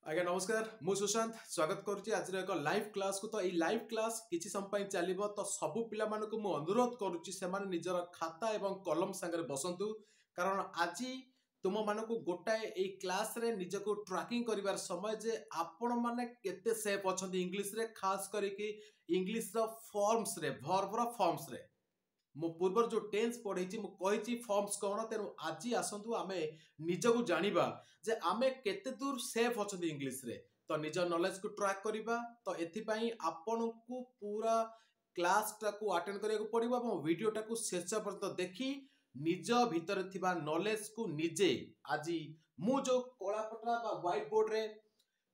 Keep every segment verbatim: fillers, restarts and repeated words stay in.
ଆଜ୍ଞା ନମସ୍କାର ମୁଁ ସୁଶାନ୍ତ ସ୍ୱାଗତ କରୁଛି ଆଜିର ଏକ ଲାଇଭ୍ କ୍ଲାସ୍କୁ ତ ଏଇ ଲାଇଭ୍ କ୍ଲାସ୍ କିଛି ସମୟ ପାଇଁ ଚାଲିବ ତ ସବୁ ପିଲାମାନଙ୍କୁ ମୁଁ ଅନୁରୋଧ କରୁଛି ସେମାନେ ନିଜର ଖାତା ଏବଂ କଲମ ସାଙ୍ଗରେ ବସନ୍ତୁ କାରଣ ଆଜି ତୁମମାନଙ୍କୁ ଗୋଟାଏ ଏଇ କ୍ଲାସ୍ରେ ନିଜକୁ ଟ୍ରାକିଂ କରିବାର ସମୟ ଯେ ଆପଣମାନେ କେତେ ସେଫ୍ ଅଛନ୍ତି ଇଂଲିଶରେ ଖାସ କରିକି ଇଂଲିଶର ଫର୍ମସରେ ଭର୍ବର ଫର୍ମସରେ ମୁଁ ପୂର୍ବରୁ ଯେଉଁ ଟେନ୍ସ ପଢ଼େଇଛି ମୁଁ କହିଛି ଫର୍ମସ କ'ଣ ତେଣୁ ଆଜି ଆସନ୍ତୁ ଆମେ ନିଜକୁ ଜାଣିବା ଯେ ଆମେ କେତେ ଦୂର ସେଫ୍ ଅଛନ୍ତି ଇଂଲିଶରେ ତ ନିଜ ନଲେଜକୁ ଟ୍ରାକ୍ କରିବା ତ ଏଥିପାଇଁ ଆପଣଙ୍କୁ ପୁରା କ୍ଲାସଟାକୁ ଆଟେଣ୍ଡ କରିବାକୁ ପଡ଼ିବ ଏବଂ ଭିଡ଼ିଓଟାକୁ ଶେଷ ପର୍ଯ୍ୟନ୍ତ ଦେଖି ନିଜ ଭିତରେ ଥିବା ନଲେଜକୁ ନିଜେ ଆଜି ମୁଁ ଯେଉଁ କଳାପଟା ବା ହ୍ୱାଇଟ୍ ବୋର୍ଡରେ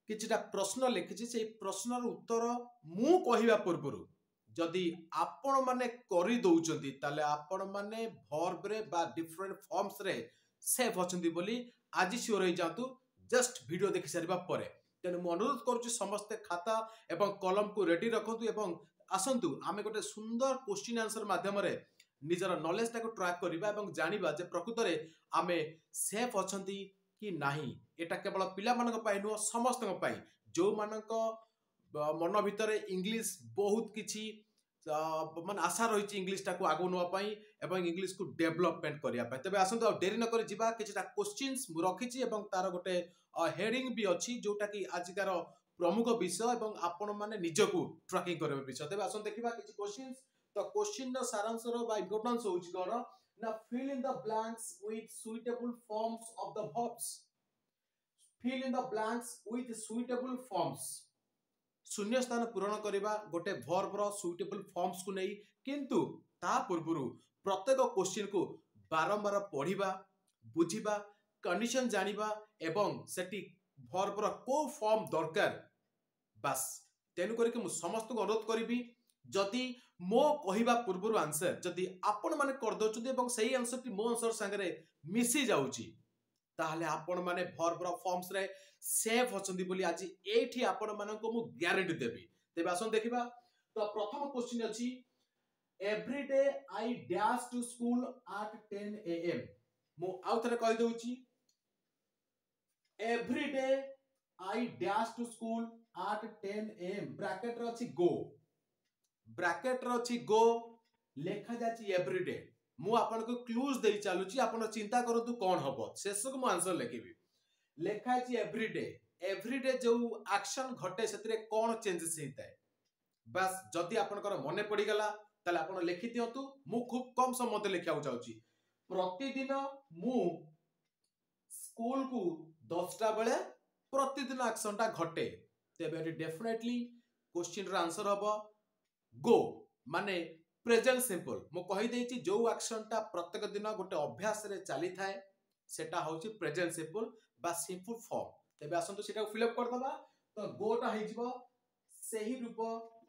କିଛିଟା ପ୍ରଶ୍ନ ଲେଖିଛି ସେଇ ପ୍ରଶ୍ନର ଉତ୍ତର ମୁଁ କହିବା ପୂର୍ବରୁ ଯଦି ଆପଣମାନେ କରିଦଉଛନ୍ତି ତାହେଲେ ଆପଣମାନେ ଭର୍ବରେ ବା ଡିଫରେଣ୍ଟ ଫର୍ମସରେ ସେଫ୍ ଅଛନ୍ତି ବୋଲି ଆଜି ସିଓର ହେଇଯାଆନ୍ତୁ ଜଷ୍ଟ ଭିଡ଼ିଓ ଦେଖି ସାରିବା ପରେ ତେଣୁ ମୁଁ ଅନୁରୋଧ କରୁଛି ସମସ୍ତେ ଖାତା ଏବଂ କଲମକୁ ରେଡି ରଖନ୍ତୁ ଏବଂ ଆସନ୍ତୁ ଆମେ ଗୋଟେ ସୁନ୍ଦର କୋଶ୍ଚିନ୍ ଆନ୍ସର ମାଧ୍ୟମରେ ନିଜର ନଲେଜଟାକୁ ଟ୍ରାକ୍ କରିବା ଏବଂ ଜାଣିବା ଯେ ପ୍ରକୃତରେ ଆମେ ସେଫ୍ ଅଛନ୍ତି କି ନାହିଁ ଏଟା କେବଳ ପିଲାମାନଙ୍କ ପାଇଁ ନୁହଁ ସମସ୍ତଙ୍କ ପାଇଁ ଯେଉଁମାନଙ୍କ ମନ ଭିତରେ ଇଂଲିଶ ବହୁତ କିଛି ମାନେ ଆଶା ରହିଛି ଇଂଲିଶଟାକୁ ଆଗକୁ ନେବା ପାଇଁ ଏବଂ ଇଂଲିଶକୁ ଡେଭଲପମେଣ୍ଟ କରିବା ପାଇଁ ତେବେ ଆସନ୍ତୁ ଆଉ ଡେରି ନକରି ଯିବା କିଛିଟା କୋଶ୍ଚିନ୍ସ ମୁଁ ରଖିଛି ଏବଂ ତାର ଗୋଟେ ହେଡିଂ ବି ଅଛି ଯୋଉଟାକି ଆଜିକାର ପ୍ରମୁଖ ବିଷୟ ଏବଂ ଆପଣମାନେ ନିଜକୁ ଟ୍ରାକିଂ କରିବା ବିଷୟ ତେବେ ଆସନ୍ତୁ ଦେଖିବା କିଛି କୋଶ୍ଚିନ୍ସ ତ କୋଶ୍ଚିନ୍ର ସାରାଂଶର ବା ଇମ୍ପୋର୍ଟାନ୍ସ ହେଉଛି କ'ଣ ନା fill in the blanks with suitable forms of the verbs fill in the blanks with suitable forms ଶୂନ୍ୟ ସ୍ଥାନ ପୂରଣ କରିବା ଗୋଟେ ଭର୍ବର ସୁଇଟେବଲ ଫର୍ମସକୁ ନେଇ କିନ୍ତୁ ତା ପୂର୍ବରୁ ପ୍ରତ୍ୟେକ କୋଶ୍ଚିନ୍କୁ ବାରମ୍ବାର ପଢ଼ିବା ବୁଝିବା କଣ୍ଡିସନ ଜାଣିବା ଏବଂ ସେଠି ଭର୍ବର କୋଉ ଫର୍ମ ଦରକାର ବାସ୍ ତେଣୁ କରିକି ମୁଁ ସମସ୍ତଙ୍କୁ ଅନୁରୋଧ କରିବି ଯଦି ମୋ କହିବା ପୂର୍ବରୁ ଆନ୍ସର ଯଦି ଆପଣମାନେ କରିଦେଉଛନ୍ତି ଏବଂ ସେଇ ଆନ୍ସରଟି ମୋ ଆନ୍ସର ସାଙ୍ଗରେ ମିଶି ଯାଉଛି ତାହେଲେ ଆପଣମାନେ ଭର୍ବର ଫର୍ମସରେ ସେଫ୍ ଅଛନ୍ତି ବୋଲି ଆଜି ଏଇଠି ଆପଣମାନଙ୍କୁ ମୁଁ ଗ୍ୟାରେଣ୍ଟି ଦେବି ତେବେ ଆସନ୍ତୁ ଦେଖିବା ତ ପ୍ରଥମ କ୍ୱେଶ୍ଚିନ୍ ଅଛି every day I dash to school at ten a m ମୁଁ ଆଉ ଥରେ କହିଦେଉଛି every day I dash to school at ten a m ବ୍ରାକେଟରେ ଅଛି ଗୋ ବ୍ରାକେଟରେ ଅଛି ଗୋ ଲେଖାଯାଇଛି ଏଭ୍ରି ଡେ ମୁଁ ଆପଣଙ୍କୁ କ୍ଲୁଜ ଦେଇ ଚାଲୁଛି ଆପଣ ଚିନ୍ତା କରନ୍ତୁ କ'ଣ ହବ ଶେଷକୁ ମୁଁ ଆନ୍ସର ଲେଖିବି ଲେଖା ହେଇଛି ଏଭ୍ରି ଡେ ଏଭ୍ରି ଡେ ଯୋଉ ଆକ୍ସନ ଘଟେ ସେଥିରେ କ'ଣ ଚେଞ୍ଜେସ୍ ହେଇଥାଏ ବାସ୍ ଯଦି ଆପଣଙ୍କର ମନେ ପଡ଼ିଗଲା ତାହେଲେ ଆପଣ ଲେଖିଦିଅନ୍ତୁ ମୁଁ ଖୁବ୍ କମ ସମୟ ମଧ୍ୟରେ ଲେଖିବାକୁ ଚାହୁଁଛି ପ୍ରତିଦିନ ମୁଁ ସ୍କୁଲକୁ ଦଶଟା ବେଳେ ପ୍ରତିଦିନ ଆକ୍ସନଟା ଘଟେ ତେବେ ଏଠି ଡେଫିନେଟଲି କୋଶ୍ଚିନ୍ର ଆନ୍ସର ହବ ଗୋ ମାନେ ପ୍ରେଜେଣ୍ଟ ସିମ୍ପଲ ମୁଁ କହିଦେଇଛି ଯୋଉ ଆକ୍ସନଟା ପ୍ରତ୍ୟେକ ଦିନ ଗୋଟେ ଅଭ୍ୟାସରେ ଚାଲିଥାଏ ସେଟା ହଉଛି ପ୍ରେଜେଣ୍ଟ ସିମ୍ପଲ ବା ସିମ୍ପଲ ଫର୍ମ ତେବେ ଆସନ୍ତୁ ସେଟାକୁ ଫିଲ୍ଅପ୍ କରିଦେବା ତ ଗୋଟା ହେଇଯିବ ସେହି ରୂପ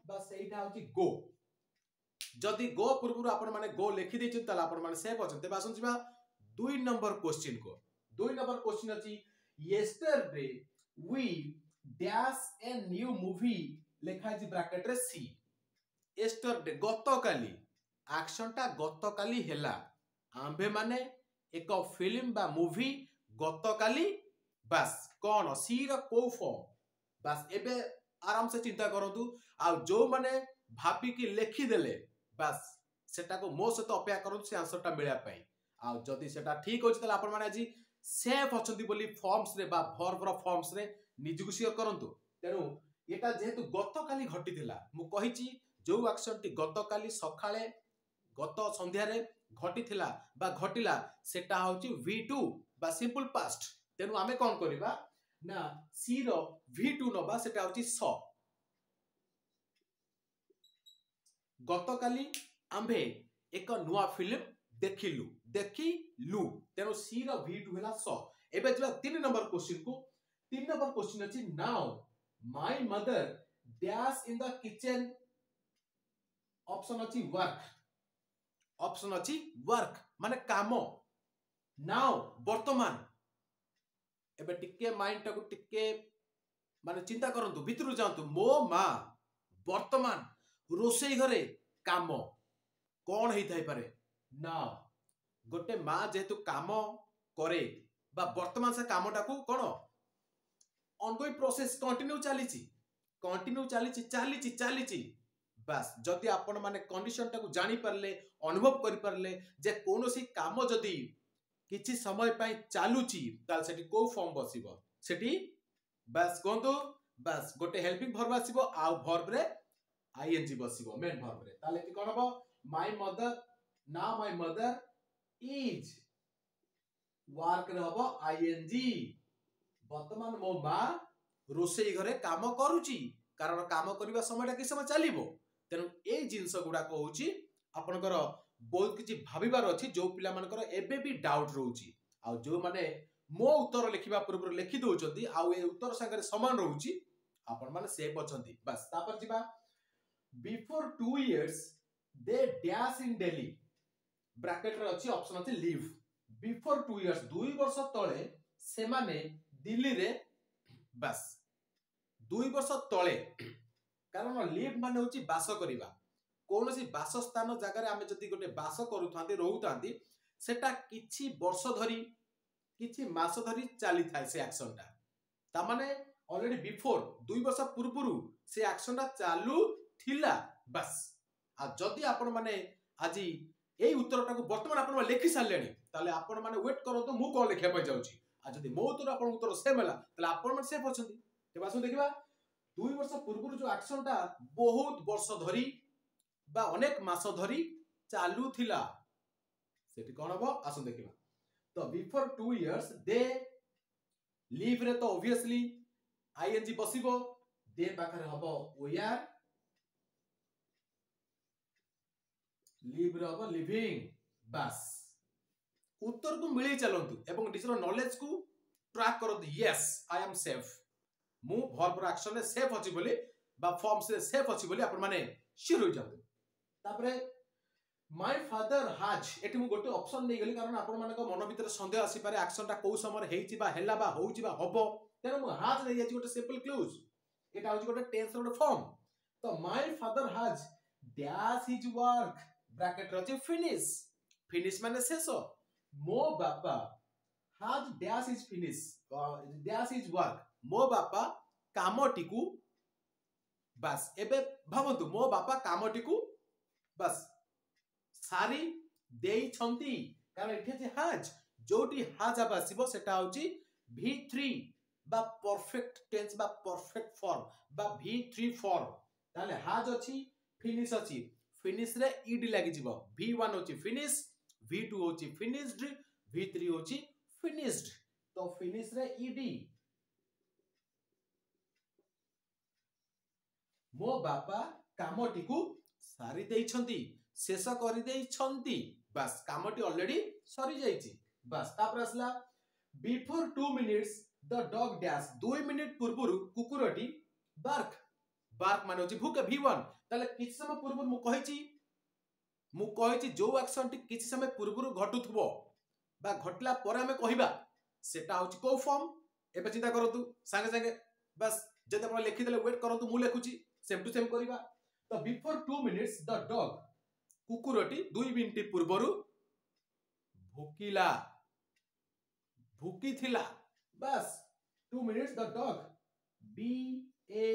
ବା ସେଇଟା ହଉଛି ଗୋ ଯଦି ଗୋ ପୂର୍ବରୁ ଆପଣମାନେ ଗୋ ଲେଖିଦେଇଛନ୍ତି ତାହେଲେ ଆପଣମାନେ ସେଫ୍ ଅଛନ୍ତି ତେବେ ଆସନ୍ତୁ ଯିବା ଦୁଇ ନମ୍ବର କୋଶ୍ଚିନ୍ କୁ ଦୁଇ ନମ୍ବର କୋଶ୍ଚିନ୍ ଅଛି yesterday we dash a new movie ଲେଖା ହେଇଛି ବ୍ରାକେଟରେ ସି ୟେଷ୍ଟରଡେ ଗତକାଲି ଆକ୍ସନଟା ଗତକାଲି ହେଲା ଆମ୍ଭେମାନେ ଏକ ଫିଲ୍ମ ବା ମୁଭି ଗତକାଲି ବାସ୍ କ'ଣ ସି ର କୋଉ ଫର୍ମ ବାସ୍ ଏବେ ଆରାମସେ ଚିନ୍ତା କରନ୍ତୁ ଆଉ ଯୋଉମାନେ ଭାବିକି ଲେଖିଦେଲେ ବାସ୍ ସେଟାକୁ ମୋ ସହିତ ଅପେକ୍ଷା କରନ୍ତୁ ସେ ଆନ୍ସରଟା ମିଳିବା ପାଇଁ ଆଉ ଯଦି ସେଟା ଠିକ ଅଛି ତାହେଲେ ଆପଣମାନେ ଆଜି ସେଫ୍ ଅଛନ୍ତି ବୋଲି ଫର୍ମସରେ ବା ଭର୍ବର ଫର୍ମସରେ ନିଜକୁ ସିଓର କରନ୍ତୁ ତେଣୁ ଏଟା ଯେହେତୁ ଗତକାଲି ଘଟିଥିଲା ମୁଁ କହିଛି ଯୋଉ ଆକ୍ସନଟି ଗତକାଲି ସକାଳେ ଗତ ସନ୍ଧ୍ୟାରେ ଘଟିଥିଲା ବା ଘଟିଲା ସେଟା ହଉଛି ଭି ଟୁ ବା ସିମ୍ପଲ ପାଷ୍ଟ ତେଣୁ ଆମେ କ'ଣ କରିବା ନା ସି ର ଭି ଟୁ ନବା ସେଟା ହଉଛି ସ ଗତକାଲି ଆମ୍ଭେ ଏକ ନୂଆ ଫିଲ୍ମ ଦେଖିଲୁ ଦେଖିଲୁ ତେଣୁ ସି ର ଭି ଟୁ ହେଲା ସ ଏବେ ଯିବା ତିନି ନମ୍ବର କ୍ୱେଶ୍ଚିନ୍ କୁ ତିନି ନମ୍ବର କ୍ୱେଶ୍ଚିନ୍ ଅଛି now my mother dash in the kitchen option ଅଛି ୱାର୍କ ଅପସନ ଅଛି ୱାର୍କ ମାନେ କାମ ନାଉ ବର୍ତ୍ତମାନ ଏବେ ଟିକେ ମାଇଣ୍ଡଟାକୁ ଟିକେ ମାନେ ଚିନ୍ତା କରନ୍ତୁ ଭିତରକୁ ଯାଆନ୍ତୁ ମୋ ମା ବର୍ତ୍ତମାନ ରୋଷେଇ ଘରେ କାମ କ'ଣ ହେଇଥାଇପାରେ ନା ଗୋଟେ ମା ଯେହେତୁ କାମ କରେ ବା ବର୍ତ୍ତମାନ ସେ କାମଟାକୁ କ'ଣ ଅନଗୋଇଂ ପ୍ରୋସେସ କଣ୍ଟିନ୍ୟୁ ଚାଲିଛି କଣ୍ଟିନ୍ୟୁ ଚାଲିଛି ଚାଲିଛି ଚାଲିଛି ବାସ୍ ଯଦି ଆପଣମାନେ କଣ୍ଡିସନଟାକୁ ଜାଣିପାରିଲେ ଅନୁଭବ କରିପାରିଲେ ଯେ କୌଣସି କାମ ଯଦି କିଛି ସମୟ ପାଇଁ ଚାଲୁଛି ତାହେଲେ ସେଠି କୋଉ ଫର୍ମ ବସିବ ସେଠି ବାସ୍ କୁହନ୍ତୁ ବାସ୍ ଗୋଟେ ହେଲ୍ପିଂ ଭର୍ବ ଆସିବ ଆଉ ଭର୍ବରେ ଆଇଏନଜି ବସିବ ମେନ୍ ଭର୍ବରେ ତାହେଲେ ଏଠି କଣ ହବ ମାଇ ମଦର ନା ମାଇ ମଦର is ୱାର୍କରେ ହବ ଆଇଏନଜି ବର୍ତ୍ତମାନ ମୋ ମା ରୋଷେଇ ଘରେ କାମ କରୁଛି କାରଣ କାମ କରିବା ସମୟଟା କିଛି ସମୟ ଚାଲିବ ତେଣୁ ଏଇ ଜିନିଷ ଗୁଡାକ ହଉଛି ଆପଣଙ୍କର ବହୁତ କିଛି ଭାବିବାର ଅଛି ଯୋଉ ପିଲାମାନଙ୍କର ଏବେ ବି ଡାଉଟ୍ ରହୁଛି ଆଉ ଯୋଉମାନେ ମୋ ଉତ୍ତର ଲେଖିବା ପୂର୍ବରୁ ଲେଖି ଦଉଛନ୍ତି ଆଉ ଏ ଉତ୍ତର ସାଙ୍ଗରେ ସମାନ ରହୁଛି ଆପଣମାନେ ସେଫ୍ ଅଛନ୍ତି ବାସ୍ ତାପରେ ଯିବା Before two years they dash in Delhi ବ୍ରାକେଟରେ ଅଛି ଅପସନ ଅଛି ଲିଭ୍ ବିଫୋର ଟୁ ଇୟର୍ସ ଦୁଇ ବର୍ଷ ତଳେ ସେମାନେ ଦିଲ୍ଲୀରେ ବାସ୍ ଦୁଇ ବର୍ଷ ତଳେ କାରଣ ଲିଭ୍ ମାନେ ହଉଛି ବାସ କରିବା କୌଣସି ବାସସ୍ଥାନ ଜାଗାରେ ଆମେ ଯଦି ଗୋଟେ ବାସ କରୁଥାନ୍ତି ରହୁଥାନ୍ତି ସେଟା କିଛି ବର୍ଷ ଧରି କିଛି ମାସ ଧରି ଚାଲିଥାଏ ସେ ଆକ୍ସନଟା ତାମାନେ ଅଲରେଡି ବିଫୋର ଦୁଇ ବର୍ଷ ପୂର୍ବରୁ ସେ ଆକ୍ସନଟା ଚାଲୁଥିଲା ବାସ୍ ଆଉ ଯଦି ଆପଣମାନେ ଆଜି ଏଇ ଉତ୍ତରଟାକୁ ବର୍ତ୍ତମାନ ଆପଣ ଲେଖି ସାରିଲେଣି ତାହେଲେ ଆପଣମାନେ ୱେଟ୍ କରନ୍ତୁ ମୁଁ କଣ ଲେଖିବା ପାଇଁ ଯାଉଛି ଆଉ ଯଦି ମୋ ଉତ୍ତର ଆପଣଙ୍କ ଉତ୍ତର ସେମ୍ ହେଲା ତାହେଲେ ଆପଣମାନେ ସେଫ୍ ଅଛନ୍ତି ତେବେ ଆସନ୍ତୁ ଦେଖିବା ଦୁଇ ବର୍ଷ ପୂର୍ବରୁ ଯୋଉ ଆକ୍ସନଟା ବହୁତ ବର୍ଷ ଧରି ବା ଅନେକ ମାସ ଧରି ଚାଲୁଥିଲା ସେଠି କଣ ହବ ଆସନ୍ତୁ ଦେଖିବା ତ ବିଫୋର ଟୁ ଇୟର୍ସ ଦେ ଲିଭ୍ ରେ ତ ଓଭିୟସଲି ଆଇଏନଜି ବସିବ ଦେ ପାଖରେ ହବ ଓୟାର ଲିଭ୍ ରେ ହବ ଲିଭିଂ ବାସ୍ ଉତ୍ତରକୁ ମିଳେଇ ଚାଲନ୍ତୁ ଏବଂ ନିଜର ନଲେଜକୁ ଟ୍ରାକ୍ କରନ୍ତୁ ୟେସ୍ I M safe ମୁଁ ଭର୍ବର ଆକ୍ସନରେ ସେଫ୍ ଅଛି ବୋଲି ବା ଫର୍ମସରେ ସେଫ୍ ଅଛି ବୋଲି ଆପଣମାନେ ସିଓର ହୋଇଯାଆନ୍ତୁ ତାପରେ my father ହାଜ୍ ଏଠି ମୁଁ ଗୋଟେ ଅପସନ ନେଇଗଲି କାରଣ ଆପଣମାନଙ୍କ ମନ ଭିତରେ ସନ୍ଦେହ ଆସିପାରେ ଆକ୍ସନଟା କୋଉ ସମୟରେ ହେଇଛି ବା ହେଲା ବା ହଉଛି ବା ହବ ତେଣୁ ମୁଁ ହାଜ୍ ନେଇଯାଇଛି ଗୋଟେ ସିମ୍ପଲ କ୍ଲୁଜ ଏଟା ହଉଛି ଗୋଟେ ଟେନ୍ସର ଗୋଟେ ଫର୍ମ ତ My father has dash his work ବ୍ରାକେଟରେ ଅଛି ଫିନିଶ ଫିନିଶ ମାନେ ଶେଷ ମୋ ବାପା has dash his finish dash his work ମୋ ବାପା କାମଟିକୁ ବାସ୍ ଏବେ ଭାବନ୍ତୁ ମୋ ବାପା କାମଟିକୁ ବାସ୍ ସାରି ଦେଇଛନ୍ତି କାରଣ ଏଠି ଅଛି ହାଜ୍ ଯୋଉଠି ହାଜ୍ ଆବ ଆସିବ ସେଟା ହଉଛି ଭି ଥ୍ରୀ ବା ପରଫେକ୍ଟ ଟେନ୍ସ ବା ପରଫେକ୍ଟ ଫର୍ମ ବା ଭି ଥ୍ରୀ ଫର୍ମ ତାହେଲେ ହାଜ୍ ଅଛି ଫିନିଶ ଅଛି ଫିନିଶ ରେ ଇଡି ଲାଗିଯିବ ଭି ୱାନ୍ ହଉଛି ଫିନିଶ ଭି ଟୁ ହଉଛି ଫିନିଶଡ ଭି ଥ୍ରୀ ହଉଛି ଫିନିଶଡ ତ ଫିନିଶ ରେ ଇଡି ମୋ ବାପା କାମଟିକୁ ସାରି ଦେଇଛନ୍ତି ଶେଷ କରିଦେଇଛନ୍ତି ବାସ୍ କାମଟି ଅଲରେଡି ସରିଯାଇଛି ବାସ୍ ତାପରେ ଆସିଲା Before two minutes the dog dash ଦୁଇ ମିନିଟ୍ ପୂର୍ବରୁ କୁକୁରଟି ବାର୍କ ବାର୍କ ମାନେ ହଉଛି ଭୁକେ ଭି ୱାନ୍ ତାହେଲେ କିଛି ସମୟ ପୂର୍ବରୁ ମୁଁ କହିଛି ମୁଁ କହିଛି ଯୋଉ ଆକ୍ସନଟି କିଛି ସମୟ ପୂର୍ବରୁ ଘଟୁଥିବ ବା ଘଟିଲା ପରେ ଆମେ କହିବା ସେଟା ହଉଛି କୋଉ ଫର୍ମ ଏବେ ଚିନ୍ତା କରନ୍ତୁ ସାଙ୍ଗେ ସାଙ୍ଗେ ବାସ୍ ଯଦି ଆପଣ ଲେଖିଦେଲେ ୱେଟ୍ କରନ୍ତୁ ମୁଁ ଲେଖୁଛି ସେମ୍ ଟୁ ସେମ୍ କରିବା ତ Before two minutes the dog କୁକୁରଟି ଦୁଇ ମିନିଟ୍ ପୂର୍ବରୁ ଭୁକିଲା ଭୁକିଥିଲା ବାସ୍ two minutes the dog B A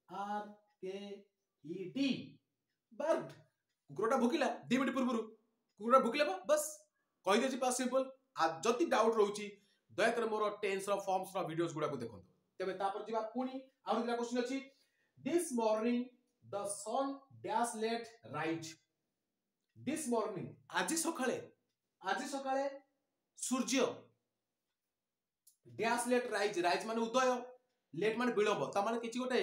R K E D barked କୁକୁରଟା ଭୁକିଲା the minute ପୂର୍ବରୁ କୁକୁରଟା ଭୁକିଲା ବା ବାସ୍ କହିଦେଇଛି ବାସ୍ ସିମ୍ପଲ ଆଉ ଯଦି ଡାଉଟ୍ ରହୁଛି ଦୟାକରି ମୋର ଟେନ୍ସର ଫର୍ମସର ଭିଡିଓସ୍ ଗୁଡାକୁ ଦେଖନ୍ତୁ ତେବେ ତାପରେ ଯିବା ପୁଣି ଆହୁରି ଦିଟା କ୍ୱେଶ୍ଚିନ୍ ଅଛି This morning the sun dash late rise this morning ଆଜି ସକାଳେ ଆଜି ସକାଳେ ସୂର୍ଯ୍ୟ ଡ୍ୟାସ୍ ଲେଟ୍ ରାଇଜ୍ ରାଇଜ୍ ମାନେ ଉଦୟ ଲେଟ୍ ମାନେ ବିଳମ୍ବ ତା ମାନେ କିଛି ଗୋଟେ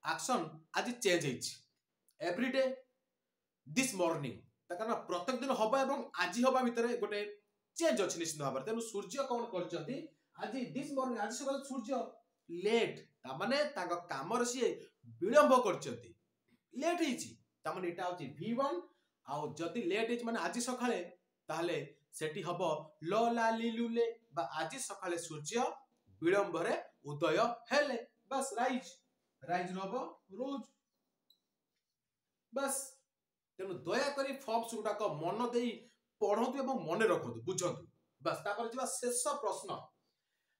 ଆକ୍ସନ ଆଜି ଚେଞ୍ଜ ହେଇଛି ଏଭ୍ରିଡେ this morning ତା କାରଣ ପ୍ରତ୍ୟେକ ଦିନ ହବା ଏବଂ ଆଜି ହବା ଭିତରେ ଗୋଟେ ଚେଞ୍ଜ ଅଛି ନିଶ୍ଚିତ ଭାବରେ ତେଣୁ ସୂର୍ଯ୍ୟ କଣ କରିଛନ୍ତି ଆଜି this morning ଆଜି ସକାଳେ ସୂର୍ଯ୍ୟ ଲେଟ୍ ତାମାନେ ତାଙ୍କ କାମରେ ସିଏ ବିଳମ୍ବ କରିଛନ୍ତି ଲେଟ୍ ହେଇଛି ତାମାନେ ଏଇଟା ହଉଛି ଭି ୱାନ୍ ଆଉ ଯଦି ଲେଟ୍ ହେଇଛି ମାନେ ଆଜି ସକାଳେ ତାହେଲେ ସେଠି ହବ ଲ ଲା ଲି ଲୁ ଲେ ବା ଆଜି ସକାଳେ ସୂର୍ଯ୍ୟ ବିଳମ୍ବରେ ଉଦୟ ହେଲେ ବାସ୍ ରାଇଜ୍ ରାଇଜ୍ ହବ ରୋଜ ବାସ୍ ତେଣୁ ଦୟାକରି ଫର୍ମସ ଗୁଡାକ ମନ ଦେଇ ପଢନ୍ତୁ ଏବଂ ମନେ ରଖନ୍ତୁ ବୁଝନ୍ତୁ ବାସ୍ ତାପରେ ଯିବା ଶେଷ ପ୍ରଶ୍ନ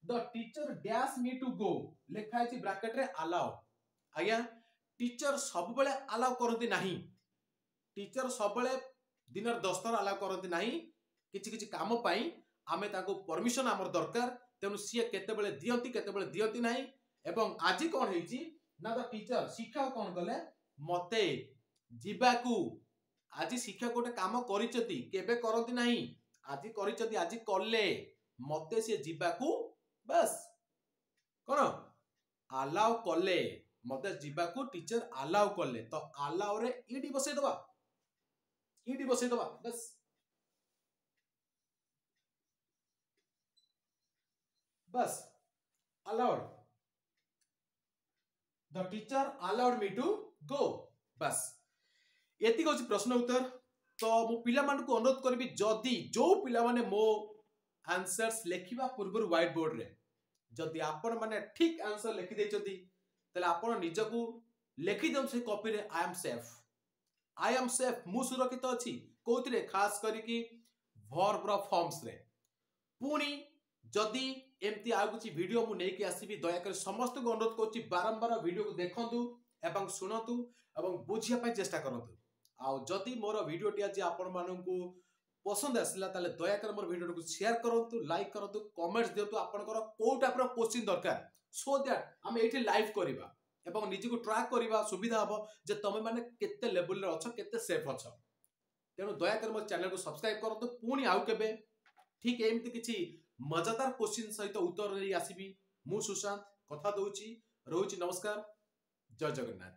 The teacher dash me to go, ଲେଖା ହେଇଛି ବ୍ରାକେଟରେ ଆଲାଉ। ଆଜ୍ଞା, ଟିଚର ସବୁବେଳେ ଆଲାଉ କରନ୍ତି ନାହିଁ। ଟିଚର ସବୁବେଳେ ଦିନରେ ଦଶ ଥର ଆଲାଉ କରନ୍ତି ନାହିଁ। କିଛି କିଛି କାମ ପାଇଁ ଆମେ ତାଙ୍କୁ ପରମିଶନ ଆମର ଦରକାର, ତେଣୁ ସିଏ କେତେବେଳେ ଦିଅନ୍ତି, କେତେବେଳେ ଦିଅନ୍ତି ନାହିଁ। ଏବଂ ଆଜି କ'ଣ ହେଇଛି ନା ଦ ଟିଚର, ଶିକ୍ଷକ କ'ଣ କଲେ ମତେ ଯିବାକୁ। ଆଜି ଶିକ୍ଷକ ଗୋଟେ କାମ କରିଛନ୍ତି, କେବେ କରନ୍ତି ନାହିଁ, ଆଜି କରିଛନ୍ତି, ଆଜି କଲେ। ମତେ ସିଏ ଯିବାକୁ ବାସ୍ କ'ଣ ଆଲାଉ କଲେ। ମତେ ଯିବାକୁ ଟିଚର ଆଲାଉ କଲେ, ତ ଆଲାଉରେ ଇଡି ବସେଇଦବା, ଇଡି ବସେଇଦବା ବାସ୍। ବାସ୍, allowed, the teacher allowed me to go। ବାସ୍, ଏତିକି ହେଉଛି ପ୍ରଶ୍ନ ଉତ୍ତର। ତ ମୁଁ ପିଲାମାନଙ୍କୁ ଅନୁରୋଧ କରିବି, ଯଦି ଯୋଉ ପିଲାମାନେ ମୋ ଆନ୍ସର୍ସ ଲେଖିବା ପୂର୍ବରୁ ହ୍ୱାଇଟ୍ ବୋର୍ଡରେ ଯଦି ଆପଣମାନେ ଠିକ ଆନ୍ସର ଲେଖିଦେଇଛନ୍ତି, ତାହେଲେ ଆପଣ ନିଜକୁ ଲେଖିଦିଅନ୍ତୁ ସେଇ କପିରେ, I am safe, I am safe, ମୁଁ ସୁରକ୍ଷିତ ଅଛି। କୋଉଥିରେ? ଖାସ କରିକି ଭର୍ବର ଫର୍ମସରେ। ପୁଣି ଯଦି ଏମିତି ଆଉ କିଛି ଭିଡ଼ିଓ ମୁଁ ନେଇକି ଆସିବି, ଦୟାକରି ସମସ୍ତଙ୍କୁ ଅନୁରୋଧ କରୁଛି, ବାରମ୍ବାର ଭିଡ଼ିଓକୁ ଦେଖନ୍ତୁ ଏବଂ ଶୁଣନ୍ତୁ ଏବଂ ବୁଝିବା ପାଇଁ ଚେଷ୍ଟା କରନ୍ତୁ। ଆଉ ଯଦି ମୋର ଭିଡ଼ିଓଟି ଆଜି ଆପଣମାନଙ୍କୁ ପସନ୍ଦ ଆସିଲା, ତାହେଲେ ଦୟାକରି ମୋର ଭିଡ଼ିଓଟିକୁ ସେୟାର କରନ୍ତୁ, ଲାଇକ୍ କରନ୍ତୁ, କମେଣ୍ଟସ୍ ଦିଅନ୍ତୁ ଆପଣଙ୍କର କୋଉ ଟାଇପ୍ର କୋଶ୍ଚିନ୍ ଦରକାର, ସୋ that ଆମେ ଏଇଠି ଲାଇଭ୍ କରିବା ଏବଂ ନିଜକୁ ଟ୍ରାକ୍ କରିବା ସୁବିଧା ହବ ଯେ ତମେ ମାନେ କେତେ ଲେବୁଲରେ ଅଛ, କେତେ ସେଫ୍ ଅଛ। ତେଣୁ ଦୟାକରି ମୋ ଚ୍ୟାନେଲକୁ ସବସ୍କ୍ରାଇବ କରନ୍ତୁ। ପୁଣି ଆଉ କେବେ ଠିକ୍ ଏମିତି କିଛି ମଜାଦାର କୋଶ୍ଚିନ୍ ସହିତ ଉତ୍ତର ନେଇ ଆସିବି। ମୁଁ ସୁଶାନ୍ତ କଥା ଦଉଛି, ରହୁଛି, ନମସ୍କାର, ଜୟ ଜଗନ୍ନାଥ।